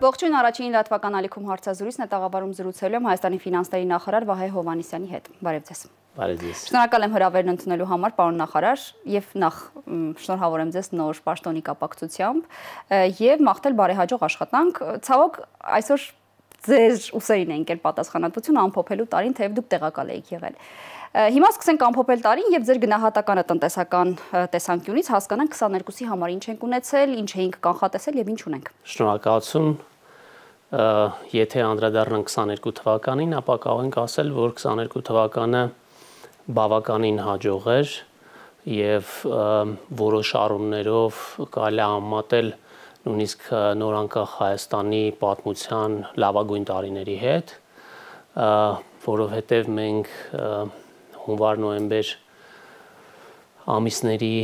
Ողջույն, առաջին լատվական ալիքում հարցազրույցն է, տաղավարում զրուցելու եմ Հայաստանի ֆինանսների նախարար Վահե Հովհաննիսյանի հետ։ Բարև ձեզ։ Բարև ձեզ։ Շնորհակալ եմ հրավերն ընդունելու համար, պարոն նախարար, եւ նախ շնորհավոր եմ ձեզ նոր պաշտոնի կապակցությամբ եւ մաղթել բարեհաջող աշխատանք։ Ցավոք, այսօր ձեր ուսերին է ընկել պատասխանատվությունը ամփոփելու տարին, թեև դուք տեղակալ եք եղել։ Հիմա սկսենք ամփոփել տարին եւ ձեր գնահատականը տնտեսական տեսանկյունից հասկանանք 22-ի համար ինչ ենք ունեցել, ինչ էինք կանխատեսել եւ ինչ ունենք։ Շնորհակալություն։ Եթե անդրադառնանք 22 թվականին, ապա կարող ենք ասել, որ 22 թվականը բավականին հաջող էր եւ որոշ առումներով կարելի է համեմատել նույնիսկ նորանկախ Հայաստանի պատմության լավագույն տարիների հետ, որովհետեւ մենք հունվար-նոյեմբեր ամիսների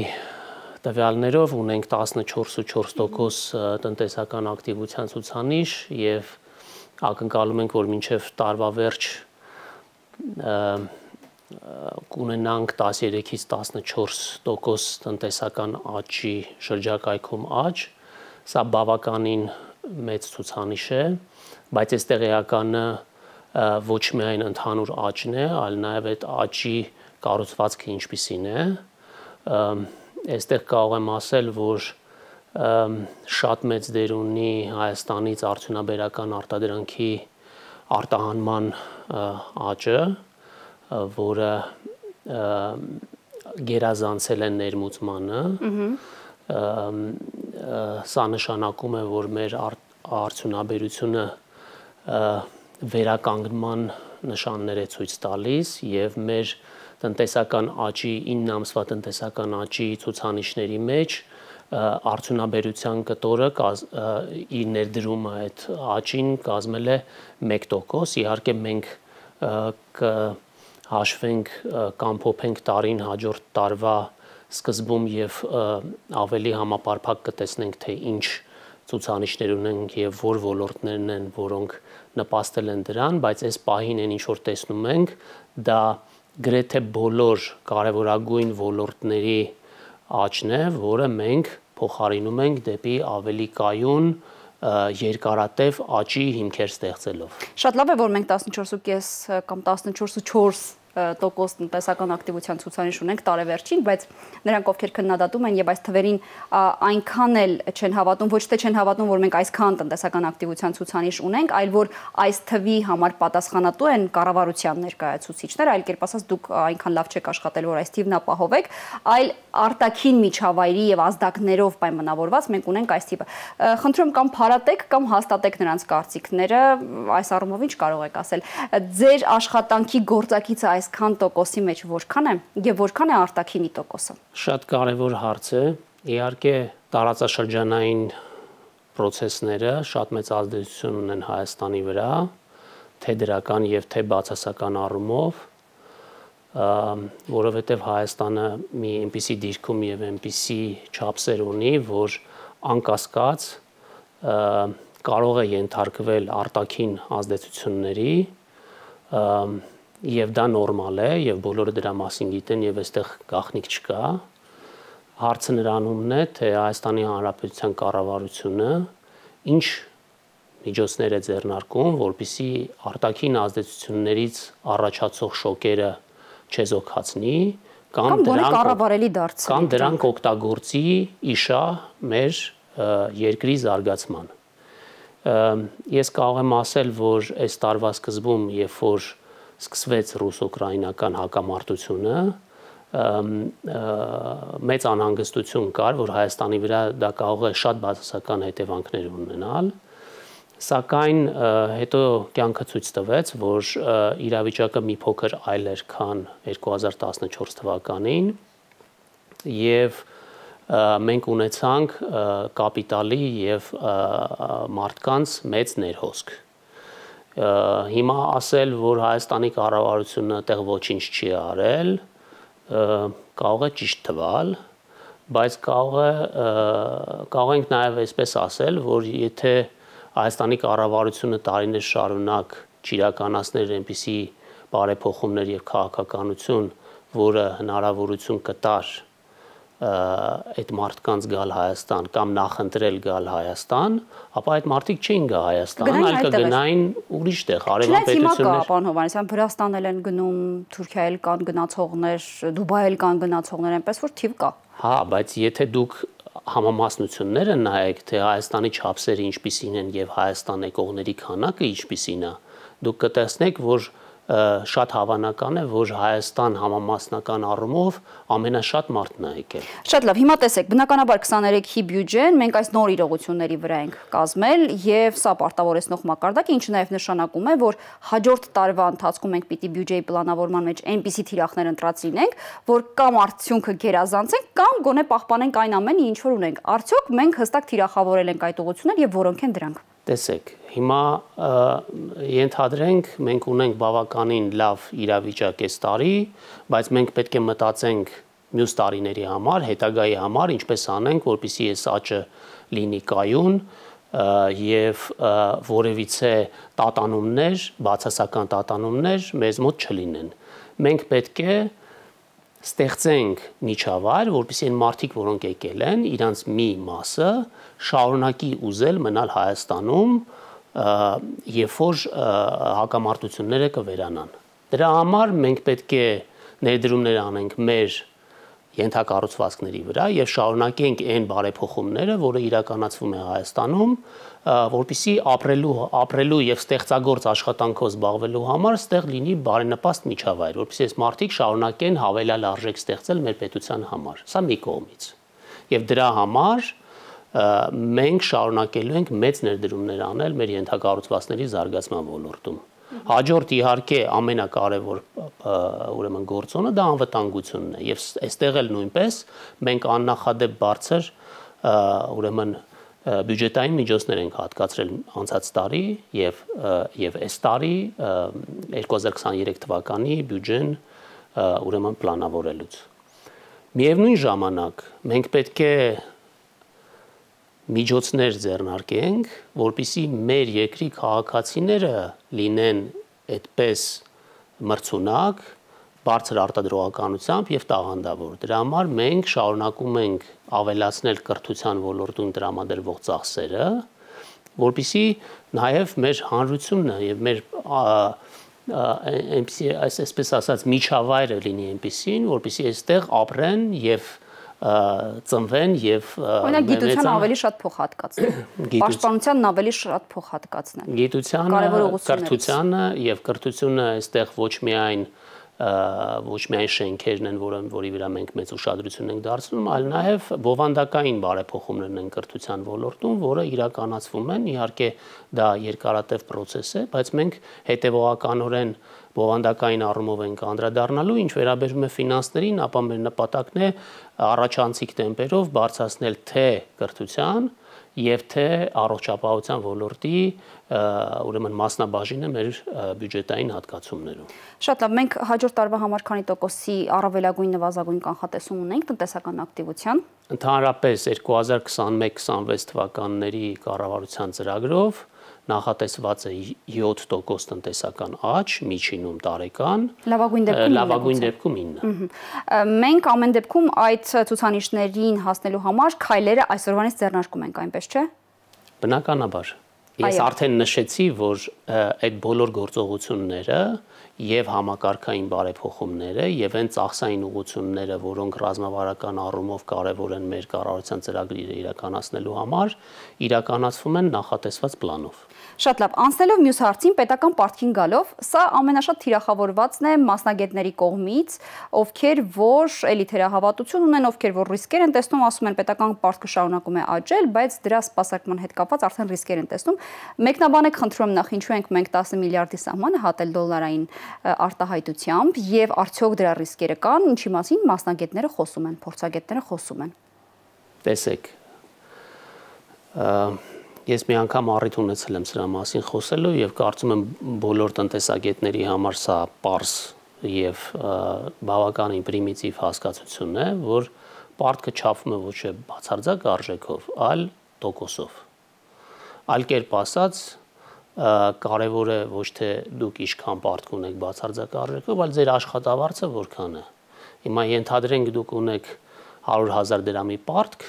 տվյալներով ունենք 14.4% տնտեսական ակտիվության ցուցանիշ եւ ակնկալում ենք, որ մինչեւ տարվա վերջ կունենանք 13-ից 14% տնտեսական աճի շրջակայքում աճ, սա բավականին մեծ ցուցանիշ է, բայց այստեղ էականը ոչ միայն ընդհանուր աճն է, այլ նաև այդ աճի կառուցվածքը ինչպիսին է, այստեղ կարող եմ ասել, որ շատ մեծ դեր ունի Հայաստանից արդյունաբերական արտադրանքի արտահանման աճը, որը գերազանցել է ներմուծմանը, սա նշանակում է, որ մեր արդյունաբերությունը վերականգնման նշաններ է ցույց տալիս եւ մեր տնտեսական աճի 9 ամսվա տնտեսական աճի ցուցանիշների մեջ արդյունաբերության կտորը իր ներդրումը այդ աճին կազմել է 1%, իհարկե մենք կհաշվենք կամ փոփենք տարին հաջորդ տարվա սկզբում եւ ավելի համապարփակ կտեսնենք թե ինչ ցուցանիշներ ունենք եւ որ ոլորտներն են, որոնք նպաստել են դրան, բայց այս պահին ինչ որ տեսնում ենք, դա գրեթե բոլոր կարևորագույն ոլորտների աճն է, որը մենք փոխարինում ենք դեպի ավելի կայուն երկարատև աճի հիմքեր ստեղծելով։ Շատ լավ է, որ մենք 14.5 կամ 14.4% տնտեսական ակտիվության ցուցանիշ ունենք տարեվերջին, բայց նրանք ովքեր քննադատում են եւ այս թվերին այնքան էլ չեն հավատում, ոչ թե չեն հավատում, որ մենք այսքան տնտեսական ակտիվության ցուցանիշ ունենք, այլ որ այս թվի համար պատասխանատու են կառավարության ներկայացուցիչները, այլ կերպ ասած դուք այնքան լավ չեք աշխատել, որ այս թիվն ապահովեք, այլ արտաքին միջավայրի եւ ազդակներով պայմանավորված մենք ունենք այս թիվը։ Խնդրում կամ փարատեք կամ հաստատեք նրանց կարծիքները, այս առումով ինչ կարող եք ասել։ Ձեր աշխատանքի գործակիցը այսքան տոկոսի մեջ որքան է եւ որքան է արտաքինի տոկոսը։ Շատ կարևոր հարց է։ Իհարկե տարածաշրջանային process-ները շատ մեծ ազդեցություն ունեն Հայաստանի վրա, թե դրական եւ թե բացասական առումով, որովհետեւ Հայաստանը մի այնպիսի դիրքում եւ այնպիսի չափսեր ունի, որ անկասկած կարող է ենթարկվել արտաքին ազդեցությունների եւ դա նորմալ է եւ բոլորը դրա մասին գիտեն եւ այստեղ գաղտնիք չկա։ Հարցը նրանումն է, թե Հայաստանի Հանրապետության կառավարությունը ինչ միջոցներ է ձեռնարկում, որպեսզի արտաքին ազդեցություններից առաջացող շոկերը չեզոքացնի կամ դրանք օգտագործի իշա մեր երկրի զարգացման։ Ես կարող եմ ասել, որ այս տարվա սկզբում, երբ որ սկսվեց ռուս-ուկրաինական հակամարտությունը, մեծ անհանգստություն կար, որ Հայաստանի վրա դա կարող է շատ բացասական հետևանքներ ունենալ, սակայն հետո կյանքը ցույց տվեց, որ իրավիճակը մի փոքր այլ էր, քան 2014 թվականին, եւ մենք ունեցանք կապիտալի եւ մարդկանց մեծ ներհոսք։ Հիմա ասել, որ Հայաստանի կառավարությունը այդտեղ ոչինչ չի արել, կարող է ճիշտ թվալ, բայց կարող ենք նաև այսպես ասել, որ եթե Հայաստանի կառավարությունը տարիներ շարունակ չիրականացներ այնպիսի բարեփոխումներ եւ քաղաքականություն, որը հնարավորություն կտար այդ մարդկանց գալ Հայաստան կամ նախընտրել գալ Հայաստան, ապա այդ մարդիկ չէին գա Հայաստան, այլ կգնային ուրիշ տեղ, հարևան պետություններ։ Պարոն Հովհաննիսյան, Վրաստան էլ են գնում, Թուրքիա էլ կան գնացողներ, Դուբայ էլ կան գնացողներ, այնպես որ թիվ կա։ Հա, բայց եթե դուք համամասնությունները նայեք, թե Հայաստանի չափսերը ինչպիսին են եւ Հայաստան եկողների քանակը ինչպիսին է, դուք կտեսնեք, որ շատ հավանական է, որ Հայաստան համամասնական առումով ամենաշատ մարդն է եկել։ Շատ լավ, հիմա տեսեք, բնականաբար 23-ի բյուջեն մենք այս նոր իրողությունների վրա ենք կազմել եւ սա պարտավորեցնող մակարդակ է, ինչը նաեւ նշանակում է, որ հաջորդ տարվա ընթացքում մենք պիտի բյուջեի պլանավորման մեջ այնպիսի թիրախներ ընտրած լինենք, որ կամ արդյունքը գերազանցենք, կամ գոնե պահպանենք այն ամենը, ինչ որ ունենք։ Արդյոք մենք հստակ թիրախավորել ենք այդ ուղղություններ եւ որոնք են դրանք։ Տեսեք, հիմա ենթադրենք մենք ունենք բավականին լավ իրավիճակ այս տարի, բայց մենք պետք է մտածենք մյուս տարիների համար, հետագայի համար, ինչպես անենք, որպեսզի այս աճը լինի կայուն եւ որևիցե տատանումներ, բացասական տատանումներ մեզ մոտ չլինեն։ Մենք պետք է ստեղծենք միջավայր, որպեսզի այն մարդիկ, որոնք եկել են, իրանց մի մասը շարունակի ուզել մնալ Հայաստանում, երբ որ հակամարտությունները կվերանան։ Դրա համար մենք պետք է ներդրումներ անենք մեր ենթակառուցվածքների վրա եւ շարունակենք այն բարեփոխումները, որը իրականացվում է Հայաստանում, որպեսզի ապրելու եւ ստեղծագործ աշխատանքով զբաղվելու համար ստեղ լինի բարենպաստ միջավայր, որպեսզի այս մարդիկ շարունակեն հավելյալ արժեք ստեղծել մեր պետության համար։ Սա մի կողմից։ Եվ դրա համար մենք շարունակելու ենք մեծ ներդրումներ անել մեր ենթակառուցվածքների զարգացման ոլորտում։ Հաջորդ իհարկե ամենակարևոր ուրեմն գործոնը դա անվտանգությունն է եւ այստեղ էլ նույնպես մենք աննախադեպ բարձր ուրեմն բյուջետային միջոցներ ենք հատկացրել անցած տարի եւ այս տարի 2023 թվականի բյուջեն ուրեմն պլանավորելուց։ Միևնույն ժամանակ մենք պետք է միջոցներ ձեռնարկենք, որպեսզի մեր երկրի քաղաքացիները լինեն այդպես մրցունակ, բարձր արտադրողականությամբ եւ տաղանդավոր։ Դրա համար մենք շարունակում ենք ավելացնել կրթության ոլորտում տրամադրվող ծախսերը, որպեսզի նաեւ մեր հանրությունն եւ մեր այսպես ասած միջավայրը լինի այնպեսին, որպեսզի այստեղ ապրեն եւ ծնվեն եւ օրինակ գիտության ավելի շատ փող հատկացնել, պաշտպանությանն ավելի շատ փող հատկացնել, գիտությանը, կրթությանը եւ կրթությունը այստեղ ոչ միայն շենքերն են, որի վրա մենք մեծ ուշադրություն ենք դարձնում, այլ նաեւ բովանդակային բարեփոխումներն են կրթության ոլորտում, որը իրականացվում են, իհարկե դա երկարատև process է, բայց մենք հետեւողականորեն բովանդակային առումով ենք անդրադառնալու, ինչ վերաբերում է ֆինանսներին, ապա մեր նպատակն է առաջանցիկ տեմպերով բարձրացնել թե կրթության եւ թե առողջապահության ոլորտի ուրեմն մասնաբաժինը մեր բյուջետային հատկացումներում։ Շատ լավ, մենք հաջորդ տարվա համար քանի տոկոսի առավելագույն նվազագույն կանխատեսում ունենք տնտեսական ակտիվության։ Ընդհանրապես 2021-26 թվականների կառավարության ծրագրով նախատեսված է 7% տնտեսական աճ միջինում տարեկան, լավագույն դեպքում 9։ Մենք ամեն դեպքում այդ ցուցանիշներին հասնելու համար քայլերը այսօրվանից ձեռնարկում ենք, այնպես չէ։ Բնականաբար։ Ես արդեն նշեցի, որ այդ բոլոր գործողությունները եւ համակարգային բարեփոխումները եւ այն ծախսային ուղղությունները, որոնք ռազմավարական առումով կարեւոր են մեր կառավարության ծրագրերը իրականացնելու համար, իրականացվում են նախատեսված պլանով։ Շատ լավ, անցնելով մյուս հարցին, պետական պարտքին գալով, սա ամենաշատ թիրախավորվածն է մասնագետների կողմից, ովքեր որ էլի թերահավատություն ունեն, ովքեր որ ռիսկեր են տեսնում, ասում են պետական պարտքը շարունակում է աճել, բայց դրա սպասարկման հետ կապված արդեն ռիսկեր են տեսնում։ Մեկնաբանեք, խնդրում եմ, նախ ինչու ենք մենք 10 միլիարդի սահմանը հատել դոլարային արտահայտությամբ եւ արդյոք դրա ռիսկերը կան, ինչի մասին մասնագետները խոսում են, փորձագետները խոսում են։ Տեսեք, ես մի անգամ առիթ ունեցել եմ սրա մասին խոսելու եւ կարծում եմ բոլոր տնտեսագետների համար սա պարզ եւ բավականին պրիմիտիվ հասկացություն է, որ պարտքը չափվում է ոչ թե բացարձակ արժեքով, այլ տոկոսով։ Այլ կերպ ասած, կարևոր է ոչ թե դուք ինչքան պարտք ունեք բացարձակ արժեքով, այլ ձեր աշխատավարձը որքան է։ Հիմա ենթադրենք դուք ունեք 100,000 դրամի պարտք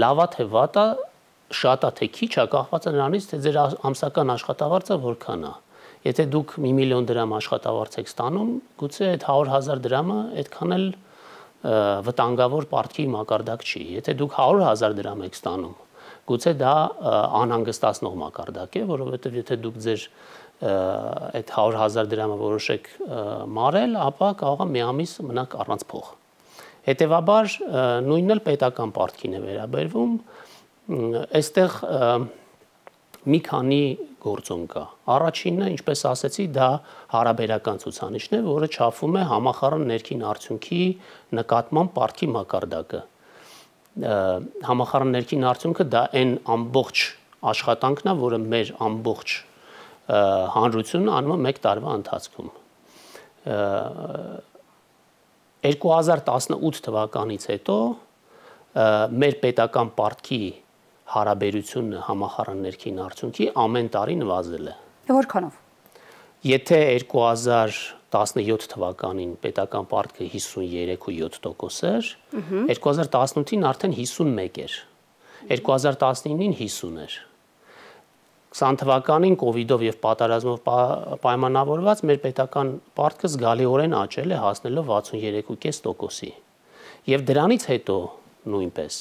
լավա թե վատա, շատա թե քիչա կախված է նրանից, թե ձեր ամսական աշխատավարձը որքան է։ Եթե դուք 1 միլիոն դրամ աշխատավարձ եք ստանում, գուցե այդ 100,000 դրամը այդքան էլ վտանգավոր պարտքի մակարդակ չի։ Եթե դուք 100,000 դրամ եք ստանում, գուցե դա անհանգստացնող մակարդակ է, որովհետև եթե դուք ձեր այդ 100,000 դրամը որոշեք մարել, ապա կարող է մի ամիս մնաք առանց փող։ Հետևաբար նույնն էլ պետական պարտքին է վերաբերվում, այստեղ մի քանի գործոն կա։ Առաջինը, ինչպես ասեցի, դա հարաբերական ցուցանիշն է, որը չափում է համախառն ներքին արդյունքի նկատմամբ պարտքի մակարդակը։ Համախառն ներքին արդյունքը դա այն ամբողջ աշխատանքն է, որը մեր ամբողջ հանրությունն անում է 1 տարվա ընթացքում։ 2018 թվականից հետո մեր պետական պարտքի հարաբերությունը համախառն ներքին արդյունքի ամեն տարի նվազել է։ Որքանով։ Եթե 2017 թվականին պետական պարտքը 53.7% էր, 2018-ին արդեն 51 էր, 2019-ին 50 էր։ 20 թվականին կովիդով եւ պատերազմով պայմանավորված մեր պետական պարտքը զգալիորեն աճել է, հասնելով 63.5%-ի։ Եվ դրանից հետո նույնպես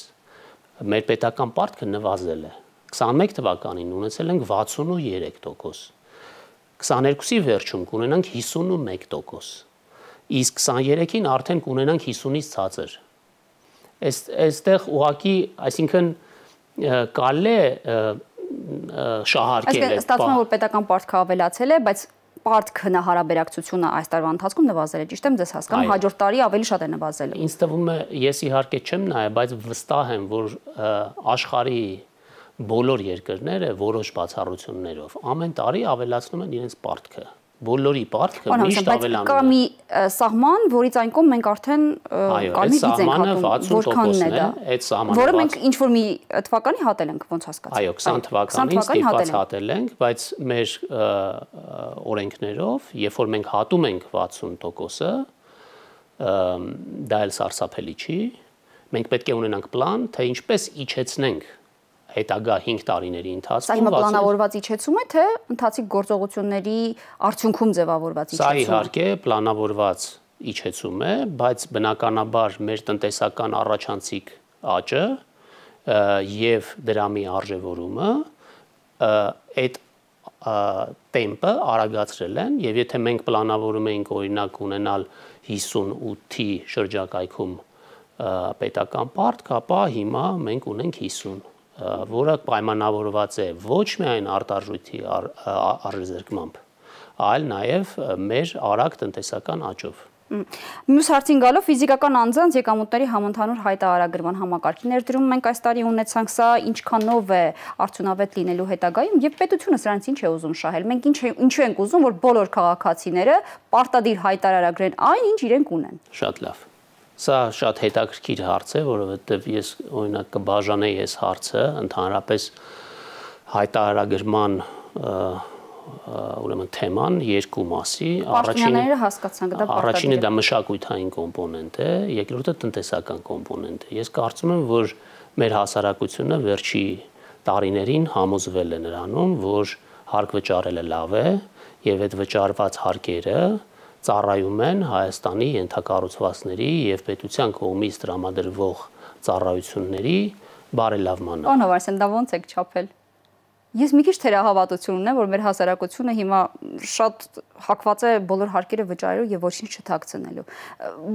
մեր պետական պարտքը նվազել է։ 21 թվականին ունեցել ենք 63%, 22-ի վերջում կունենանք 51%, իսկ 23-ին արդեն կունենանք 50-ից ցածր։ Այստեղ ուղղակի, այսինքն կարելի է շահարկել է։ Ստացվում է, որ պետական պարտքը ավելացել է, բայց պարտքը հարաբերակցությունը այս տարվա ընթացքում նվազել է, ճիշտ եմ ձեզ հասկանում, հաջորդ տարի ավելի շատ է նվազել։ Ինձ թվում է, ես իհարկե չեմ նայել, բայց վստահ եմ, որ աշխարհի բոլոր երկրները որոշ բացառություններով ամեն տարի ավելացնում են իրենց պարտքը։ Բոլորի պարտքը միշտ ավելանում է։ Կա մի սահման, որից այն կողմ մենք արդեն կարմիր գիծ ենք հատում, որքանն է դա։ Այդ սահմանը, որը մենք ինչ որ մի թվականի հատել ենք, ոնց հասկացա։ Այո, 20 թվականին ստիպված հատել ենք, բայց մեր օրենքներով, երբ որ մենք հատում ենք 60%-ը, դա էլ սարսափելի չի։ Մենք պետք է ունենանք պլան, թե ինչպես իջեցնենք հետագա 5 տարիների ընթացքում։ Սա հիմա պլանավորված իջեցում է, թե ընթացիկ գործողությունների արդյունքում ձևավորված իջեցում է։ Սա իհարկե պլանավորված իջեցում է, բայց բնականաբար մեր տնտեսական առաջանցիկ աճը եւ դրամի արժեվորումը այդ տեմպը արագացրել են, եւ եթե մենք պլանավորում էինք օրինակ ունենալ 58-ի շրջակայքում պետական պարտք, ապա հիմա մենք ունենք 50, որը պայմանավորված է ոչ միայն արտարժույթի առերզրկմամբ, այլ նաև մեր արագ տնտեսական աճով։ Մյուս հարցին գալով, ֆիզիկական անձանց եկամուտների համընդհանուր հայտարարագրման համակարգի ներդրում մենք այս տարի ունեցանք, սա ինչքանով է արդյունավետ լինելու հետագայում եւ պետությունը սրանից ինչ է ուզում շահել։ Մենք ինչու ենք ուզում, որ բոլոր քաղաքացիները պարտադիր հայտարարագրեն այն, ինչ իրենք ունեն։ Շատ լավ։ Սա շատ հետաքրքիր հարց է, որովհետև ես օրինակ կբաժանեի այս հարցը ընդհանրապես հայտարարագրման ուրեմն թեման երկու մասի։ Առաջինը դա մշակութային կոմպոնենտ է, երկրորդը տնտեսական կոմպոնենտ է։ Ես կարծում եմ, որ մեր հասարակությունը վերջի տարիներին համոզվել է նրանում, որ հարկ վճարելը լավ է եւ այդ վճարված հարկերը ծառայում են Հայաստանի ենթակառուցվածքների եւ պետության կողմից տրամադրվող ծառայությունների բարելավմանը։ Պարոն Հովհաննիսյան, դա ո՞նց եք չափել։ Ես մի քիչ թերահավատություն ունեմ, որ մեր հասարակությունը հիմա շատ հակված է բոլոր հարկերը վճարելու եւ ոչինչ չթաքցնելու։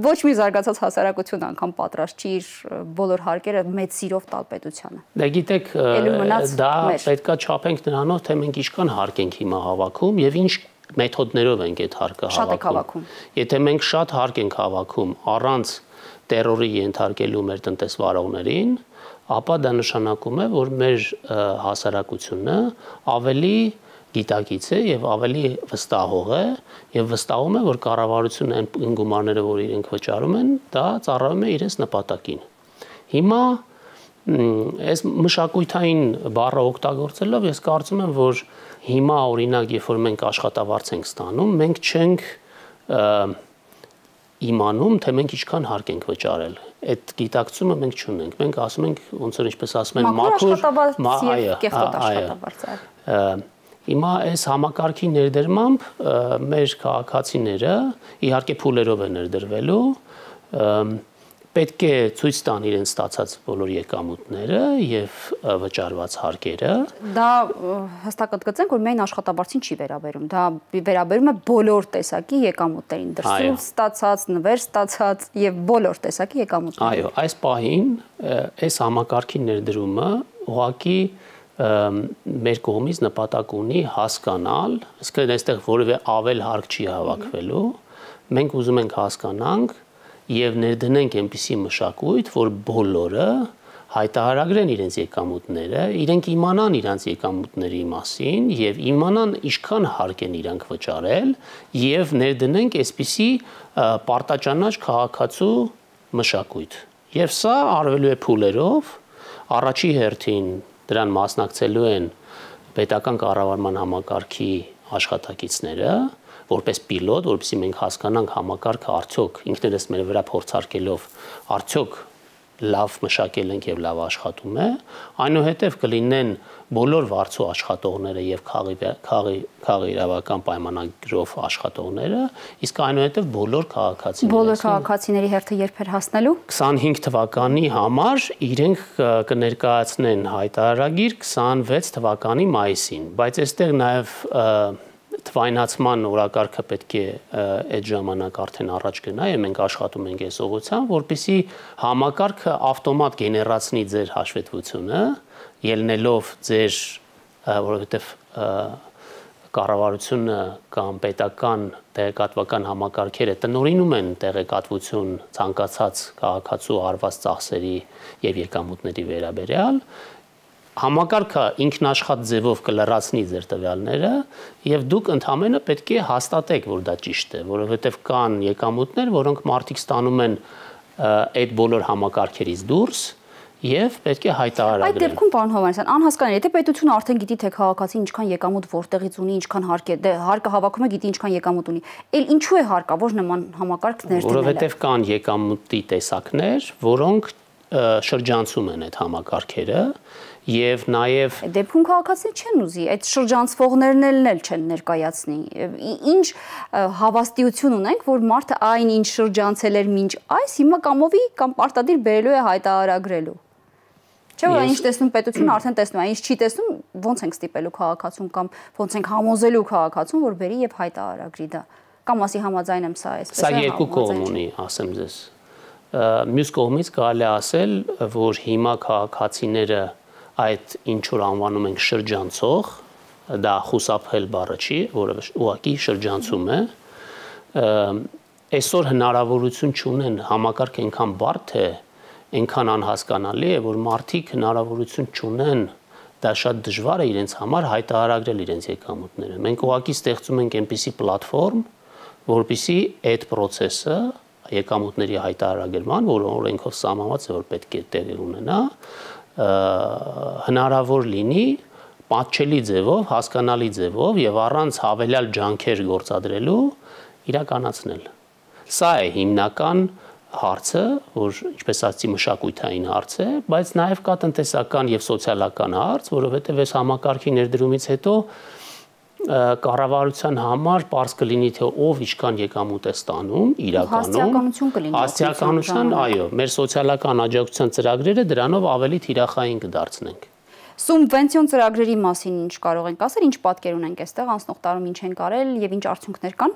Ոչ մի զարգացած հասարակություն անգամ պատրաստ չի իր բոլոր հարկերը մեծ սիրով տալ պետությանը։ Դե գիտեք, դա պետքա չափենք նրանով, թե մենք ինչքան հարկ ենք հիմա հավաքում եւ ինչ մեթոդներով ենք այդ հարկը հավաքում։ Եթե մենք շատ հարկ ենք հավաքում առանց տերորի ենթարկելու մեր տնտեսվարողներին, ապա դա նշանակում է, որ մեր հասարակությունը ավելի գիտակից է եւ ավելի վստահող է եւ վստահում է, որ կառավարությունը այն գումարները, որ իրենք վճարում են, դա ծառայում է իրենց նպատակին։ Հիմա այս մշակութային բառը օգտագործելով ես կարծում եմ, որ հիմա օրինակ, երբ որ մենք աշխատավարձ ենք ստանում, մենք չենք իմանում, թե մենք ինչքան հարկ ենք վճարել։ Այդ գիտակցումը մենք չունենք։ Մենք ասում ենք, ոնց որ ինչպես ասում են, Հիմա այս համակարգի ներդրմամբ մեր քաղաքացիները իհարկե փուլերով են ներդրվելու, պետք է ցույց տան իրենց ստացած բոլոր եկամուտները եւ վճարված հարկերը։ Դա հստակ ընդգծենք, որ միայն աշխատավարձին չի վերաբերում, դա վերաբերում է բոլոր տեսակի եկամուտներին, դրսում ստացած, նվեր ստացած եւ բոլոր տեսակի եկամուտներին։ Այո, այս պահին այս համակարգի ներդրումը ուղղակի մեր կողմից նպատակ ունի հասկանալ, այսինքն այստեղ որևէ ավել հարկ չի հավաքվելու, մենք ուզում ենք հասկանանք եւ ներդնենք այնպիսի մշակույթ, որ բոլորը հայտարարագրեն իրենց եկամուտները, իրենք իմանան իրենց եկամուտների մասին եւ իմանան ինչքան հարկ են իրանք վճարել եւ ներդնենք այսպիսի պարտաճանաչ քաղաքացու մշակույթ։ Եվ սա արվելու է փուլերով, առաջի հերթին դրան մասնակցելու են պետական կառավարման համակարգի աշխատակիցները, որպես պիլոտ, որպեսզի մենք հասկանանք համակարգը արդյոք ինքներս մեր վրա փորձարկելով արդյոք լավ մշակել ենք եւ լավ աշխատում է, այնուհետեւ կլինեն բոլոր վարձու աշխատողները եւ քաղի իրավական պայմանագրով աշխատողները, իսկ այնուհետեւ բոլոր քաղաքացիները։ Բոլոր քաղաքացիների հերթը երբ էր հասնելու։ 25 թվականի համար իրենք կներկայացնեն հայտարարագիր 26 թվականի մայիսին, բայց այստեղ նաեւ թվայնացման օրակարգը պետք է այդ ժամանակ արդեն առաջ գնա եւ մենք աշխատում ենք այս ուղղությամբ, որպեսզի համակարգը ավտոմատ գեներացնի ձեր հաշվետվությունը, ելնելով ձեր, որովհետեւ կառավարությունը կամ պետական տեղեկատվական համակարգերը տնօրինում են տեղեկատվություն ցանկացած քաղաքացու արված ծախսերի եւ եկամուտների վերաբերյալ, համակարգը ինքնաշխատ ձևով կլրացնի ձեր տվյալները եւ դուք ընդհանրապես պետք է հաստատեք, որ դա ճիշտ է, որովհետեւ կան եկամուտներ, որոնք մարդիկ ստանում են այդ բոլոր համակարգերից դուրս եւ պետք է հայտարարեն։ Այդ դեպքում, պարոն Հովհաննիսյան, անհասկանալի է, թե պետությունը արդեն գիտի, թե քաղաքացին ինչքան եկամուտ որտեղից ունի, ինչքան հարկ է, դե հարկը հավաքում է, գիտի ինչքան եկամուտ ունի։ Էլ ինչու է հարկավոր նման համակարգ ներդնելը։ Որովհետեւ կան եկամուտի տեսակներ, որոնք շրջանցում են այդ համակարգերը եւ նաեւ դեպքում քաղաքացիները չեն ուզի, այդ շրջանցվողներն էլ չեն ներկայացնի։ Ինչ հավաստիություն ունենք, որ մարդը այն ինչ շրջանցել էր մինչ այս հիմա կամովի կամ պարտադիր բերելու է հայտարարագրելու։ Չէ՞ որ ինչ տեսնում պետությունը արդեն տեսնում է, ինչ չի տեսնում, ո՞նց ենք ստիպելու քաղաքացուն կամ ո՞նց ենք համոզելու քաղաքացուն, որ բերի եւ հայտարարագրի դա։ Կամ ասի համաձայն եմ սա այսպես է։ Սա երկու կողմ ունի, ասեմ ձեզ։ Մյուս կողմից կարելի ասել, որ հիմա քաղաքացիները այդ ինչ որ անվանում ենք շրջանցող, դա խուսափել բառը չի, որը ուղղակի շրջանցում է, այսօր հնարավորություն չունեն, համակարգ այնքան բարդ է, այնքան անհասկանալի է, որ մարդիկ հնարավորություն չունեն, դա շատ դժվար է իրենց համար հայտարարագրել իրենց եկամուտները։ Մենք ուղղակի ստեղծում ենք այնպիսի պլատֆորմ, որպեսզի այդ process-ը եկամուտների հայտարարագրման, որը օրենքով սահմանված է, որ պետք է տեղի ունենա, հնարավոր լինի պատշելի ձևով, հասկանալի ձևով եւ առանց հավելյալ ջանքեր գործադրելու իրականացնել։ Սա է հիմնական հարցը, որ ինչպես ասացի մշակութային հարց է, բայց նաեւ կա տնտեսական եւ սոցիալական հարց, որովհետեւ այս համակարգի ներդրումից հետո կառավարության համար պարզ կլինի թե ով ինչքան եկամուտ է ստանում իրականում, հասցեականության, այո, մեր սոցիալական աջակցության ծրագրերը դրանով ավելի թիրախային կդարձնենք։ Սուբվենցիոն ծրագրերի մասին ինչ կարող ենք ասել, ինչ պատկեր ունենք այստեղ, անցնող տարում ինչ են կարել եւ ինչ արդյունքներ կան։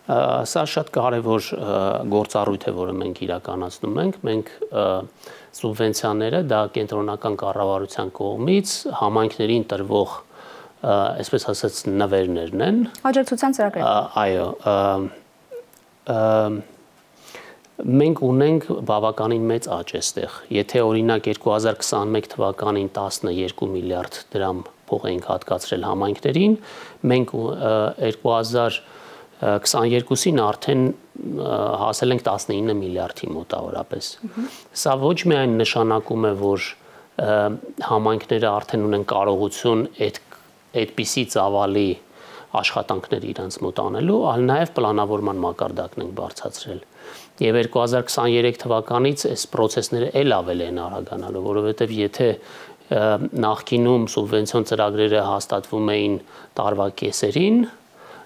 Սա շատ կարևոր գործառույթ է, որը մենք իրականացնում ենք։ Մենք սուբվենցիաները դա կենտրոնական կառավարության կողմից համայնքներին տրվող այսպես ասած նվերներն են։ Աջակցության ծրագրեր։ Այո, մենք ունենք բավականին մեծ աճ այստեղ։ Եթե օրինակ 2021 թվականին 12 միլիարդ դրամ փող ենք հատկացրել համայնքներին, մենք 2022-ին արդեն հասել ենք 19 միլիարդի մոտավորապես։ Սա ոչ միայն նշանակում է, որ համայնքները արդեն ունեն կարողություն այդպիսի ծավալի աշխատանքներ իրենց մոտ անելու, այլ նաև պլանավորման մակարդակն ենք բարձրացրել։ Եվ 2023 թվականից այս process-ները էլ ավելի են արագանալու, որովհետև եթե նախկինում սուբվենցիոն ծրագրերը հաստատվում էին տարվա կեսերին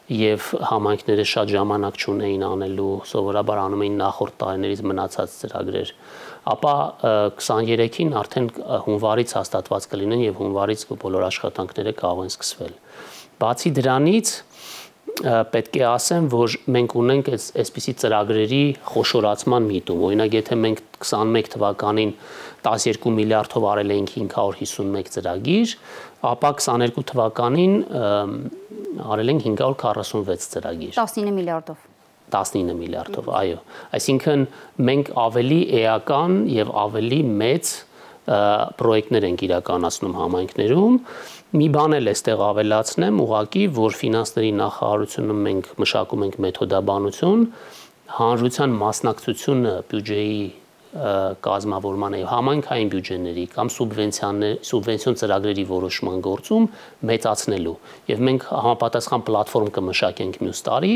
եւ համայնքները շատ ժամանակ չունեին անելու, սովորաբար անում էին նախորդ տարիներից մնացած ծրագրեր, ապա 23-ին արդեն հունվարից հաստատված կլինեն եւ հունվարից բոլոր աշխատանքները կարող են սկսվել։ Բացի դրանից պետք է ասեմ, որ մենք ունենք այսպիսի ծրագրերի խոշորացման միտում։ Օրինակ, եթե մենք 21 թվականին 12 միլիարդով արել էինք 551 ծրագիր, ապա 22 թվականին արել ենք 546 ծրագիր։ 19 միլիարդով։ 19 միլիարդով, այո։ Այսինքն մենք ավելի էական եւ ավելի մեծ պրոյեկտներ ենք իրականացնում համայնքներում։ Մի բան էլ էստեղ ավելացնեմ, ուղղակի, որ ֆինանսների նախարարությունում մենք մշակում ենք մեթոդաբանություն, հանրության մասնակցությունը բյուջեի կազմավորման եւ համայնքային բյուջեների կամ սուբվենցիոն ծրագրերի որոշման գործում մեծացնելու եւ մենք համապատասխան պլատֆորմ կմշակենք մյուս տարի,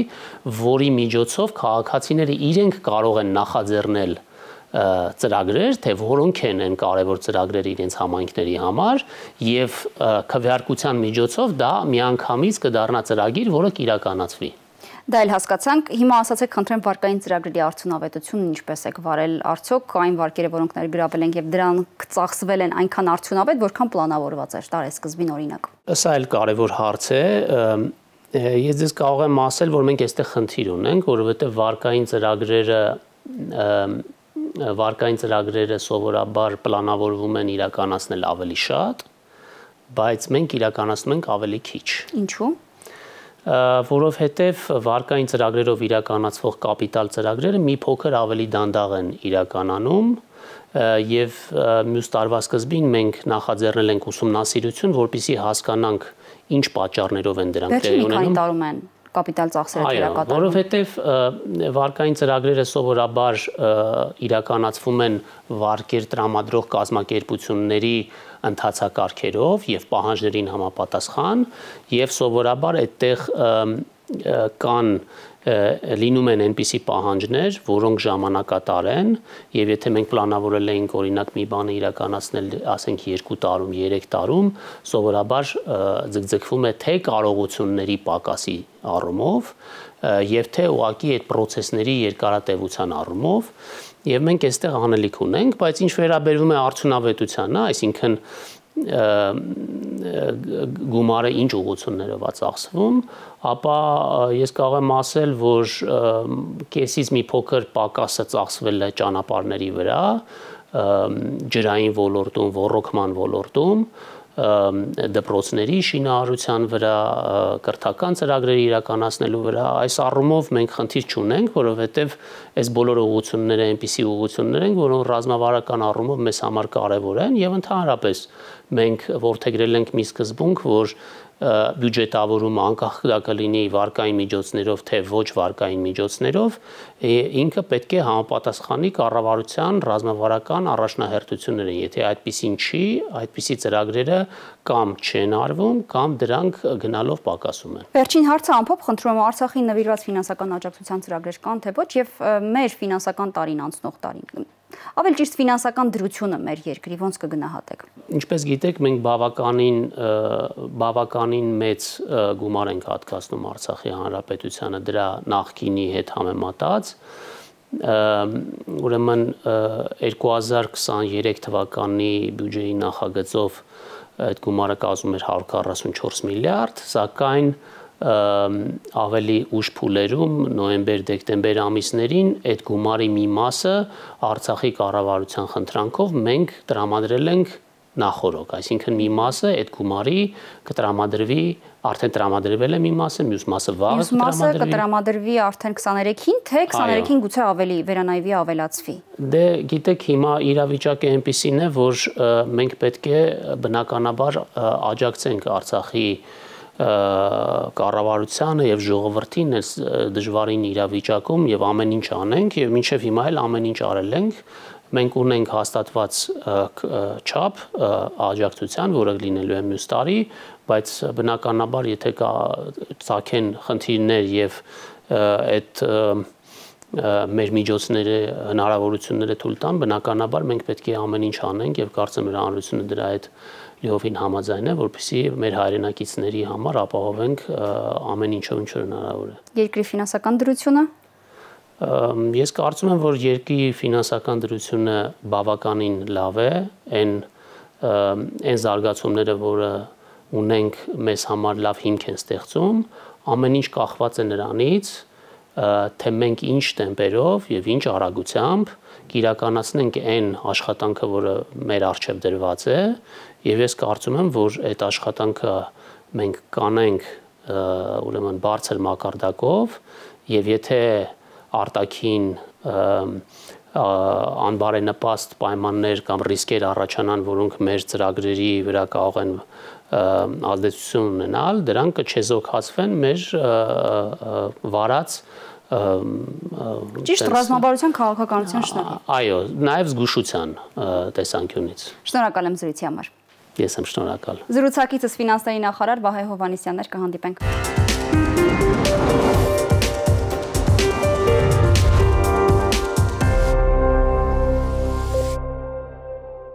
որի միջոցով քաղաքացիները իրենք կարող են նախաձեռնել ծրագրեր, թե որոնք են կարևոր ծրագրերը իրենց համայնքների համար եւ քվեարկության միջոցով դա միանգամից կդառնա ծրագիր, որը կիրականացվի։ Դա էլ հասկացանք, հիմա ասացեք, խնդրեմ, վարկային ծրագրերի արդյունավետությունն ինչպես եք վարել, արդյոք այն վարկերը, որոնք ներգրավել ենք եւ դրանք ծախսվել են այնքան արդյունավետ, որքան պլանավորված էր տարեսկզբին օրինակ։ Սա էլ կարևոր հարց է։ Ես ձեզ կարող եմ ասել, որ մենք այստեղ խնդիր ունենք, որովհետեւ վարկային ծրագրերը սովորաբար պլանավորվում են իրականացնել ավելի շատ, բայց մենք իրականացնում ենք ավելի քիչ։ Ինչու՞։ Որովհետև վարկային ծրագրերով իրականացվող կապիտալ ծրագրերը մի փոքր ավելի դանդաղ են իրականանում եւ մյուս տարվա սկզբին մենք նախաձեռնել ենք ուսումնասիրություն, որպեսզի հասկանանք ինչ պատճառներով են դրանք տեղի ունենում։ տարում են կապիտալ ծախսերը իրականացվում։ Որովհետև վարկային ծրագրերը սովորաբար իրականացվում են վարկեր տրամադրող կազմակերպությունների ընթացակարգերով եւ պահանջներին համապատասխան եւ սովորաբար այդտեղ կան լինում են այնպիսի պահանջներ, որոնք ժամանակատար են եւ եթե մենք պլանավորել էինք օրինակ մի բանը իրականացնել, ասենք 2 տարում, 3 տարում, սովորաբար ձգձգվում է թե կարողությունների պակասի առումով եւ թե ուղղակի այդ process-ների երկարատևության առումով եւ մենք այստեղ անելիք ունենք, բայց ինչ վերաբերվում է արդյունավետությանը, այսինքն գումարը ինչ ուղղություններով է ծախսվում, ապա ես կարող եմ ասել, որ կեսից մի փոքր պակասը ծախսվել է ճանապարհների վրա, ջրային ոլորտում, ոռոգման ոլորտում, դպրոցների շինարարության վրա, կրթական ծրագրերի իրականացնելու վրա, այս առումով մենք խնդիր չունենք, որովհետև այս բոլոր ուղղությունները այնպիսի ուղղություններ են, որոնք ռազմավարական առումով մեզ համար կարևոր են եւ ընդհանրապես մենք որդեգրել ենք մի սկզբունք, որ բյուջետավորումը անկախ դա կլինի վարկային միջոցներով թե ոչ վարկային միջոցներով, ինքը պետք է համապատասխանի կառավարության ռազմավարական առաջնահերթություններին։ Եթե այդպիսին չի, այդպիսի ծրագրերը կամ չեն արվում, կամ դրանք գնալով պակասում են։ Վերջին հարցը ամփոփ խնդրում եմ, Արցախին նվիրված ֆինանսական աջակցության ծրագրեր կան թե ոչ եւ մեր ֆինանսական տարին անցնող տարին։ Ավելի ճիշտ ֆինանսական դրությունը մեր երկրի ոնց կգնահատեք։ Ինչպես գիտեք, մենք բավականին մեծ գումար ենք հատկացնում Արցախի Հանրապետությանը դրա նախկինի հետ համեմատած։ Ուրեմն 2023 թվականի բյուջեի նախագծով այդ գումարը կազմում էր 144 միլիարդ, սակայն ավելի ուշ փուլերում նոյեմբեր-դեկտեմբեր ամիսներին այդ գումարի մի մասը Արցախի կառավարության խնդրանքով մենք տրամադրել ենք նախորոք, այսինքն մի մասը այդ գումարի կտրամադրվի, արդեն տրամադրվել է մի մասը, մյուս մասը վաղը կտրամադրվի։ Մյուս մասը կտրամադրվի արդեն 23-ին, թե 23-ին գուցե ավելի վերանայվի, ավելացվի։ Դե գիտեք, հիմա իրավիճակը այնպիսին է, որ մենք պետք է բնականաբար աջակցենք Արցախի կառավարությանը եւ ժողովրդին այս դժվարին իրավիճակում եւ ամեն ինչ անենք եւ մինչեւ հիմա էլ ամեն ինչ արել ենք։ Մենք ունենք հաստատված չափ աջակցության, որը լինելու է մյուս տարի, բայց բնականաբար եթե կա ցակեն խնդիրներ եւ այդ մեր միջոցները, հնարավորությունները թույլ տան, բնականաբար մենք պետք է ամեն ինչ անենք եւ կարծեմ որ հանրությունը դրա հետ լիովին համաձայն է, որպեսզի մեր հայրենակիցների համար ապահովենք ամեն ինչով ինչ որ հնարավոր է։ Երկրի ֆինանսական դրությունը Ես կարծում եմ, որ երկրի ֆինանսական դրությունը բավականին լավ է, այն զարգացումները, որը ունենք, մեզ համար լավ հիմք են ստեղծում, ամեն ինչ կախված է նրանից, թե մենք ինչ տեմպերով եւ ինչ արագությամբ կիրականացնենք այն աշխատանքը, որը մեր առջև դրված է, եւ ես կարծում եմ, որ այդ աշխատանքը մենք կանենք ուրեմն բարձր մակարդակով եւ եթե արտաքին անբարենպաստ պայմաններ կամ ռիսկեր առաջանան, որոնք մեր ծրագրերի վրա կարող են ազդեցություն ունենալ, դրանք կչեզոքացվեն մեր վարած ճիշտ ռազմավարության քաղաքականության շնորհիվ։ Այո, նաև զգուշության տեսանկյունից։ Շնորհակալ եմ զրույցի համար։ Ես եմ շնորհակալ։ Զրուցակիցս ֆինանսների նախարար Վահե Հովհաննիսյանն էր, կհանդիպենք։